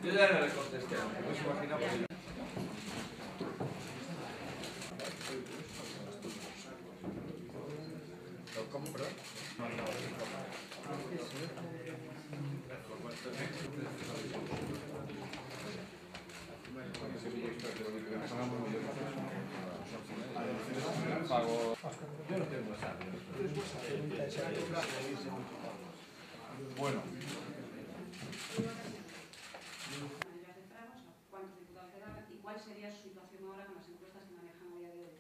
Yo ya le contesté, no se imagina por... ¿Cómo, perdón? Yo no tengo WhatsApp. Bueno. ¿Cuántos diputados quedaban y cuál sería su situación ahora con las encuestas que manejan a día de hoy?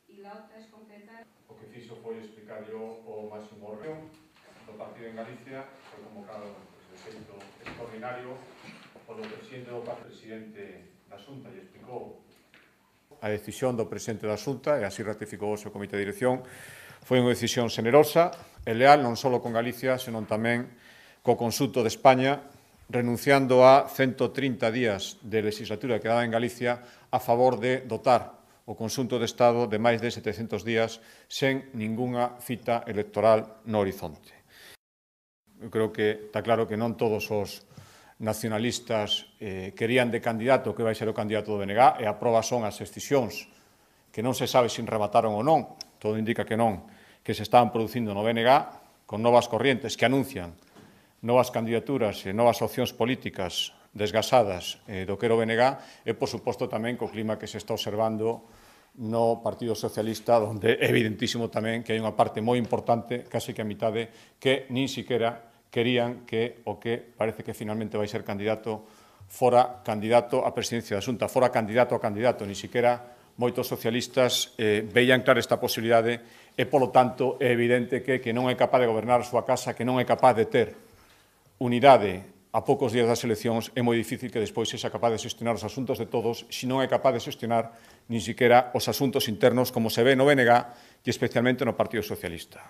Y la otra es concretar... O que fixo foi explicar yo o máximo órgano do partido en Galicia, foi convocado de xeito extraordinario polo presidente do presidente da Xunta e explicou a decisión do presidente da Xunta e así ratificou o seu comité de dirección. Foi unha decisión xenerosa e leal non só con Galicia, senón tamén co conxunto de España, renunciando a 130 días de legislatura que daba en Galicia a favor de dotar o conxunto de Estado de máis de 700 días sen ningunha cita electoral no horizonte. Eu creo que está claro que non todos os nacionalistas querían de candidato que vai ser o candidato do BNG e a proba son as escisións que non se sabe se remataron ou non, todo indica que non, que se estaban producindo no BNG con novas corrientes que anuncian novas candidaturas e novas opcións políticas desgasadas do que era o BNG e, por suposto, tamén co clima que se está observando no Partido Socialista, onde é evidentísimo tamén que hai unha parte moi importante, casi que a mitade, que nin siquiera querían que o que parece que finalmente vai ser candidato fora candidato á presidencia da Xunta, fora candidato a candidato, nin siquiera moitos socialistas veían clara esta posibilidade e, polo tanto, é evidente que non é capaz de gobernar a súa casa, que non é capaz de ter unidade a poucos días das eleccións, é moi difícil que despois sexa capaz de xestionar os asuntos de todos se non é capaz de xestionar nin siquiera os asuntos internos como se ve no BNG e especialmente no Partido Socialista.